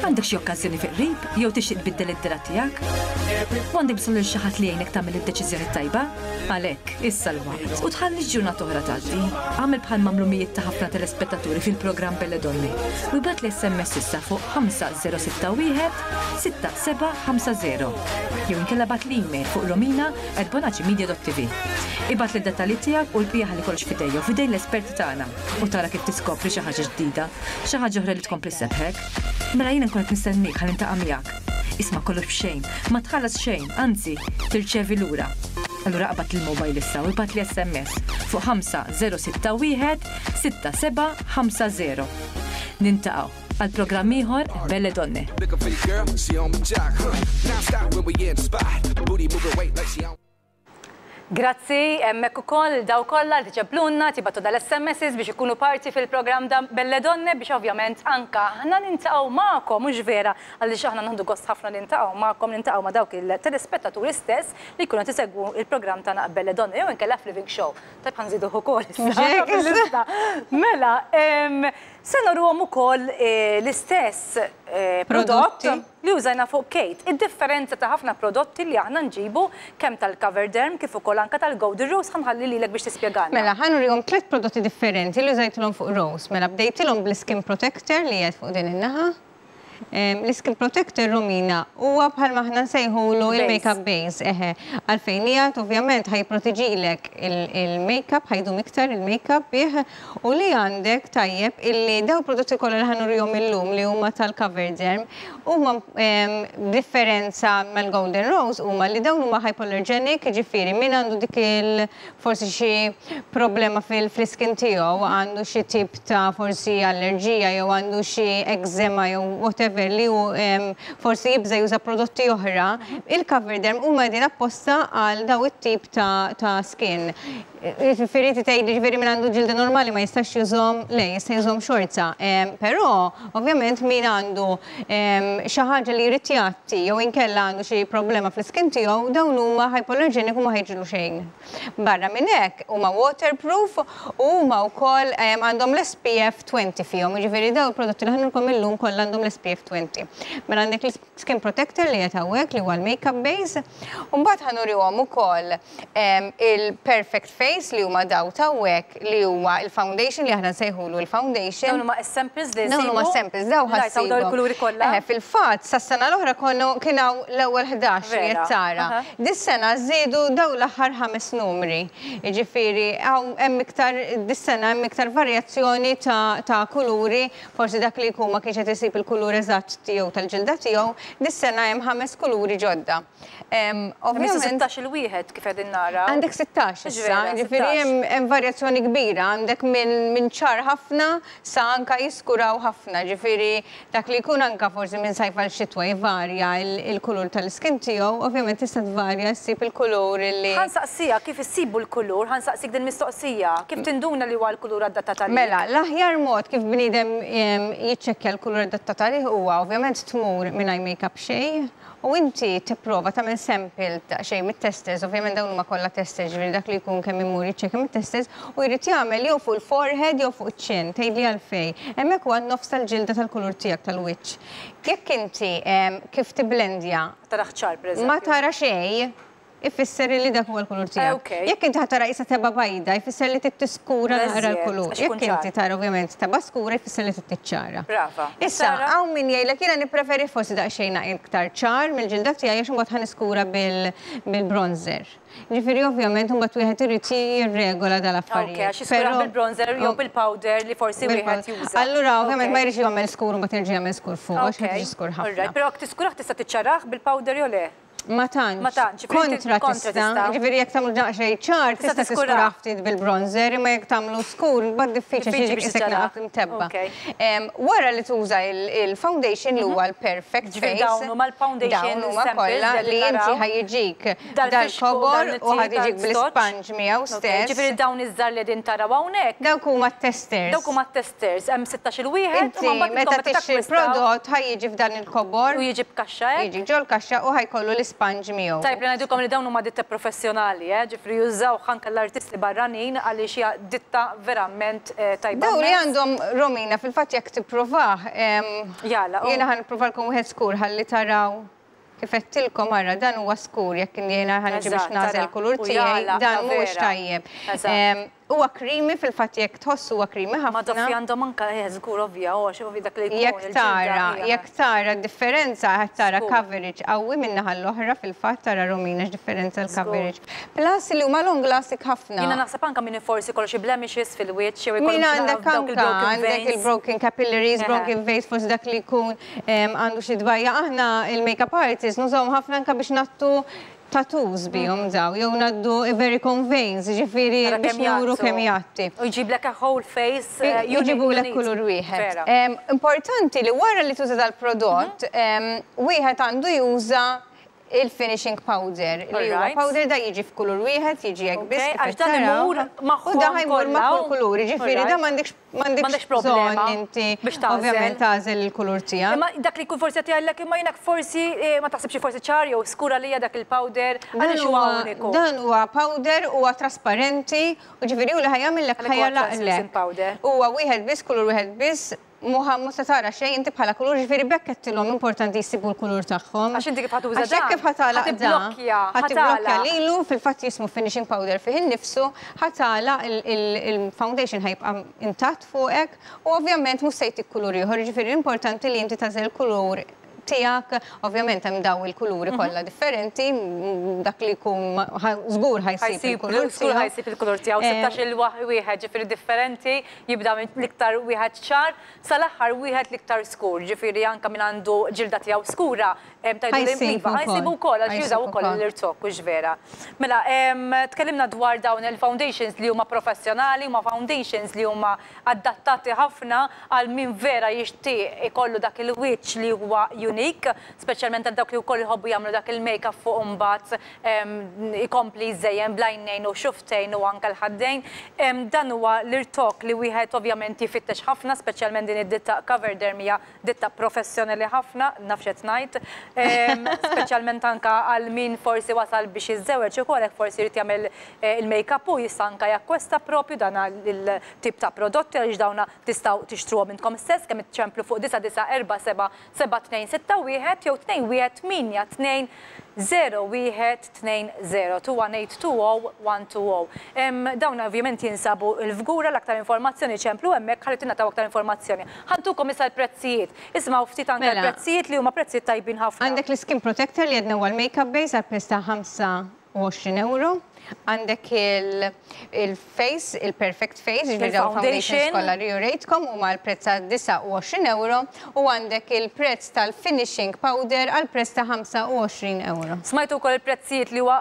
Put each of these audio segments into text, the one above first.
Għandek xi okkażjoni fi qrib jew tixtieq tbiddel id-dehra tiegħek? U għandek bżonn lil xi ħadd li jgħinek tagħmel id-deċiżjoni t-tajba? Għalhekk, issa l-waqt. U tħallix ġurnata oħra tgħaddi. Agħmel bħal m'għamlu mijiet ta' ħafna telespettaturi fil-programm Belle Donne u ibgħatli SMS issa fuq 5061 6750 jew inkella ibgħatli email fuq romina@bonacimedia.tv. Ibgħatli d-dettalji tiegħek u l-bqija ħalli kollox f'idejja u f'idejn l-esperti tagħna u tara kif tiskopri xi ħaġa ġdida, xi ħaġa oħra li tkompli ssebbħek. Mela jiena nkun qed nistenniek ħalli niltaqa' miegħek. Isma' kollox b'xejn, ma tħallas xejn, anzi, tirċevi lura. Allura aqbad il-mobile issa u ibgħatli SMS fuq 5061 6750. Niltaqgħu għal programm ieħor Belle Donne. Grazzi, hemmhekk ukoll dawk kollha li tiċemplunna, tibagħtu dal-SMSs biex ikunu parti fil-programm ta' Belle Donne biex ovvjament anka aħna niltaqgħu magħkom, mhux vera, għaliex aħna nieħdu gost ħafna niltaqgħu magħkom, niltaqgħu ma' dawk il-telespettaturi stess li jkunu qed isegwu il-programm tagħna Belle Donne jew inkella f'Living Show. Tajb ħa nżiduh ukoll issa. Mela, se noruhom ukoll l-istess prodott li użajna fuq Kate. Id-differenza ta' ħafna prodotti li aħna nġibu kemm tal-Coverderm kif ukoll anka tal-Golden Rose ħa nħalli lilek biex tispjegalna. Mela, ħa nurihom tliet prodotti differenti li użajtilhom fuq Rose. Mela, bdejtilhom bl-Skin Protector li qiegħed fuq din in-naħa. L-Skin Protector Romina huwa bħalma aħna nsejħulu il-makeup base, eħe. Għalfejn qiegħed ovvjament ħa jipproteġilek il-makeup, ħa jdum iktar il-makeup bih u li għandek tajjeb illi daw prodotti kollha li ħa nurihom illum li huma tal-Coverderm huma differenza mal-Golden Rose huma li dawn huma hypoallergenic, jiġifieri min għandu dik il forsi xi problema fil-skin tiegħu, għandu xi tip ta' forsi allerġija jew għandu xi eczema jew whatever li hu forsi jibża juża prodotti oħra, il-Coverderm huma qegħdin apposta għal daw it-tip ta' skin. Jiġifieri tgħid jiġifieri min għandu ġilda normali ma jistax jużhom, le jista' jużhom xorta. Però ovvjament min għandu xi ħaġa li jrid jgħatti jew inkella għandu xi problema fl-iskin tiegħu, dawn huma hypoallergenic u ma ħa jiġrilu xejn. Barra minn hekk huma waterproof u huma wkoll għandhom l-SPF 20 fihom, jiġifieri dawn il-prodotti li ħa nurikom illum kollha għandhom l-SPF 20. Mela għandek l-skin protector li qed hawnhekk li huwa l-makeup base, u mbagħad ħa nurihom ukoll il-Perfect Face li huma daw t'hawnhekk li huwa il-foundation li aħna nsejħulu il-foundation. Dawn huma s-samples li Dawn huma samples, daw ħa ssibhom. Dawn il-kuluri kollha. Eħe, fil-fatt sas-sena l-oħra konu kien hawn l-ewwel 11 li qed tara. Dis-sena żiedu daw l-aħħar ħames numri. Jiġifieri hawn hemm iktar dis-sena hemm iktar varjazzjoni ta' kuluri, forsi dak li jkun ma kienx qed isib il-kulur eżatt tiegħu tal-ġilda tiegħu, dis-sena hemm ħames kuluri ġodda. Ovvjament. 16 il-wieħed kif qegħdin nara. Għandek 16 issa, jiġifieri hemm varjazzjoni kbira, għandek minn ċar ħafna sa anka jiskuraw ħafna, jiġifieri dak li jkun anka forsi minn sajf għal xitwa jvarja il-kulur tal-iskin tiegħu, ovvjament tista' tvarja ssib il-kulur li. Ħa nsaqsiha kif issibu l-kulur, ħa nsaqsik din mistoqsija, kif tinduna li huwa l-kulur adattat għalik? Mela, l-aħjar mod kif bniedem jiċċekkja l-kulur adattat għalih huwa ovvjament tmur mingħajr makeup xejn, U inti tipprova tagħmel sample daqsxejn mit-testers, ovvjament dawn huma kollha testers, ġifieri dak li jkun kemm imur jiċċekkja mit-testers, u jrid jagħmel jew fuq il-forehead jew fuq iċ-chin, tgħidli għalfejn. Hemmhekk huwa n-nofs tal-ġilda tal-kulur tiegħek tal-wiċċ. Jekk inti kif tibblendja Ma tarax ċar, pereżempju. Ma tara xejn, ifisser li dak huwa l-kulur tiegħek. Jekk inti ħa tara qisha tebgħa bajda, jfisser li trid tiskura naqra l-kulur. Jekk inti tara ovvjament tebgħa skura, jfisser li trid tiċċara. Brava. Issa, hawn min jgħidlek jiena nippreferi forsi daqsxejn iktar ċar mill-ġilda tiegħi għax imbagħad ħa niskura bil-bronzer. Ġifieri ovvjament imbagħad wieħed irid jirregola dal-affarijiet. Ok, għax jiskura bil-bronzer jew bil-powder li forsi wieħed juża. Allura ovvjament ma jridx jagħmel skur u mbagħad jerġa' jagħmel skur fuq għax ħa tiġi skur ħafna. Però jekk tiskurah tista' tiċċarah bil-powder jew le? Ma tantx. Ma tantx. Kontra tista'. Ġifieri jekk tagħmlu daqsxejn ċar tista' tiskurah ftit bil-bronzer, imma jekk tagħmlu skur mbagħad diffiċli għax jiġi qisek naqra mtebba'. Wara li tuża il-foundation li huwa l-perfect face. Dawn huma l-foundation Dawn huma kollha li inti ħa jiġik dal-kobor u ħa tiġik bl-isponge miegħu stess. Ġifieri dawn iż-żgħar li qegħdin taraw hawnhekk. Dawk huma t-testers. Dawk huma t-testers. Hemm 16-il wieħed. Inti meta tixtri l-prodott ħa jiġi f'dan il-kobor. U jiġi b'kaxxa hekk. Jiġi ġol-kaxxa u ħa jkollu l. l-isponge miegħu. Tajjeb li ngħidilkom li dawn huma ditta professjonali, eh, ġifieri jużawh anke l-artisti barranin għaliex hija ditta verament tajba. Dawn li għandhom Romina fil-fatt jekk tipprovah, jiena ħa nippruvalkom wieħed skur ħalli taraw kif għedtilkom ara dan huwa skur jekk jiena ħa niġi biex nagħżel il-kulur tiegħi dan mhuwiex tajjeb. Huwa creamy fil-fatt jekk tħoss huwa creamy ħafna. Ma doffi għandhom anke eh żgur ovvja u għax ovvja dak li jkun. Jekk tara, jekk tara d-differenza qed tara coverage qawwi min-naħa l-oħra fil-fatt tara Romina x'differenza l-coverage. Plus li huma long lasting ħafna. Jiena naħseb anke min forsi jkollu xi blemishes fil-wiċċ jew ikollu Min għandek anke għandek il-broken capillaries, broken veins forsi dak li jkun għandu xi tbajja. Aħna il-makeup artists nużawhom ħafna anke biex ngħattu tattoos bihom daw, jew ngħaddu varicose veins, ġifieri biex nuru kemm jgħatti. U jġiblek a whole face. Jġibulek kulur wieħed. Importanti li wara li tuża dal-prodott, wieħed għandu juża il-finishing powder. Li huwa powder da jiġi f'kulur wieħed, jiġi hekk biss. Għax dan imur magħhom. U da ħa jmur ma' kull kulur, jiġifieri da m'għandekx m'għandekx problema inti ovvjament tagħżel il-kulur tiegħek. Imma dak li jkun forsi qed jgħidlek imma jiena forsi ma taħsibx forsi ċar jew skur għalija dak il-powder għaliex huwa uniku. Dan huwa powder huwa trasparenti u ġifieri hu li ħa jagħmillek ħa jagħlaqlek. Huwa wieħed biss kulur wieħed biss Muha mhux se tara xejn inti bħala kulur, ġifieri b'hekk għedtilhom importanti jsibu l-kulur tagħhom. Għax inti kif ħa tuża dan. Għax hekk kif ħa tagħlaq dan. Ħa tiblokkja. Ħa tiblokkja lilu, fil-fatt jismu finishing powder fih innifsu, ħa tagħlaq il-foundation ħa jibqa' intatt fuqek u ovvjament mhux se jtik kulur ieħor, jiġifieri l-importanti li inti tagħżel il-kulur tiegħek, ovvjament hemm daw il-kuluri kollha differenti, dak li jkun żgur ħa jsib il-kulur tiegħu. Żgur ħa jsib il-kulur tiegħu, 16-il wieħed ġifieri differenti, jibda minn l-iktar wieħed ċar sal-aħħar wieħed l-iktar skur, ġifieri anke min għandu ġilda tiegħu skura, tgħidu li iva, ħa jsibu wkoll għax jużaw ukoll l-irtokk, hux vera. Mela, tkellimna dwar dawn il-foundations li huma professjonali, huma foundations li huma adattati ħafna għal min vera jixtieq ikollu dak il-wiċċ li huwa unique, speċjalment għal dawk li wkoll iħobbu jagħmlu dak il-make-up fuq imbagħad ikompli jżejjen bl-għajnejn u xufftejn u anke l-ħaddejn. Dan huwa l-irtokk li wieħed ovvjament jfittex ħafna, speċjalment din id-ditta Coverderm hija ditta professjonali ħafna, naf x'qed ngħid, speċjalment anke għal min forsi wasal biex jiżżewweġ ukoll hekk forsi jrid jagħmel il-make-up hu jista' anke jakkwesta propju dan il-tip ta' prodotti għaliex dawna tistgħu tixtruhom intkom stess kemm iċċemplu fuq 9947 7261 jew 2182 0120 21820 120. Dawn ovvjament jinsabu l-Fgura, l-aktar informazzjoni ċemplu hemmhekk ħalli tingħataw aktar informazzjoni. Ħa ntukom issa l-prezzijiet. Ismgħu ftit anke l-prezzijiet li huma prezzijiet tajbin ħafna. Għandek l-skin protector li għedna huwa l-makeup base għal prezz ta' 25 euro. Għandek il-face, il-perfect face, ġifieri dawn foundations kollha li urejtkom huma għal prezz ta' 29 euro u għandek il-prezz tal-finishing powder għal prezz ta' 25 euro. Smajtu wkoll il-prezzijiet li huwa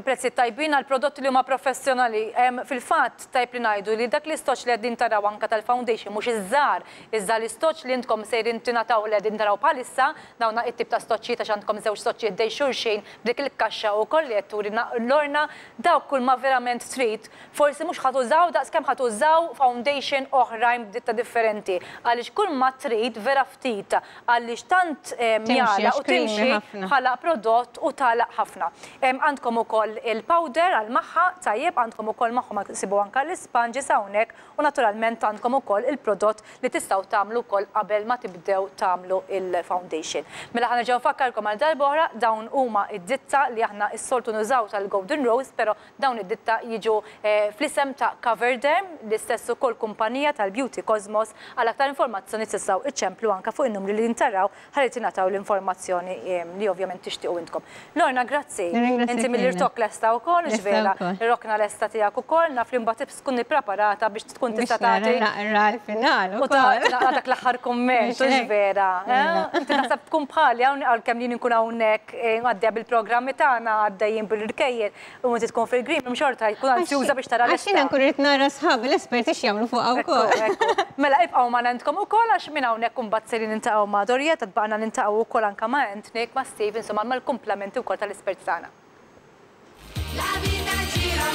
prezzijiet tajbin għal prodotti li huma professjonali. Fil-fatt, tajjeb li ngħidu li dak l-istoċ li qegħdin taraw anke tal-foundation mhux iż-żgħar, iżda l-istoċ li intkom sejrin tingħataw li qegħdin taraw bħalissa, dawn it-tip ta' stoċċijiet għax għandkom żewġ stoċċijiet ħdejn xulxin b'dik il-kaxxa ukoll li qed turina Lorna, dawk kull ma verament trid, forsi mhux ħa tużaw daqs kemm ħa tużaw foundation oħrajn b'ditta differenti għaliex kull ma trid vera ftit għaliex tant jagħlaq u timxi bħala prodott u tagħlaq ħafna. Għandkom ukoll il-powder għal magħha, tajjeb, għandkom ukoll magħhom ssibu anke l-isponges hawnhekk u naturalment għandkom ukoll il-prodott li tistgħu tagħmlu wkoll qabel ma tibdew tagħmlu il-foundation. Mela ħa nerġa' nfakkarkom għal darb'oħra dawn huma d-ditta li aħna s-soltu nużaw tal-Golden Rose però dawn id-ditta jiġu fl-isem ta' Coverderm, l-istess ukoll kumpanija tal-Beauty Cosmos. Għal aktar informazzjoni tistgħu iċċemplu anke fuq in-numri li ntaraw ħalli tingħataw l-informazzjoni li ovvjament tixtiequ intkom. Lorna, grazzi. Inti mill-irtokk lesta wkoll, hux vera? Ir-rokna lesta tiegħek ukoll, naf li mbagħad tkun ippreparata biex tkun tista' tagħti. Biex naqra l-final ukoll. U taqra dak l-aħħar kumment, hux vera? Inti naħseb tkun bħali hawn għalkemm jien inkun hawnhekk għaddejja bil-programmi tagħna, għaddejjin bil-irkejjen, U inti tkun fil-green room xorta jkun anzjuża biex tara l-lista. Għax jiena nkun irrid nara sħabi l-esperti x'jagħmlu fuqha wkoll. Mela ibqgħu magħna intkom ukoll għax minn hawnhekk imbagħad sejrin niltaqgħu ma' Dorietta, tbaqgħna niltaqgħu wkoll anke ma' Anthony, ma' Steve, insomma mal-kumplamenti wkoll tal-esperti tagħna. La vita gira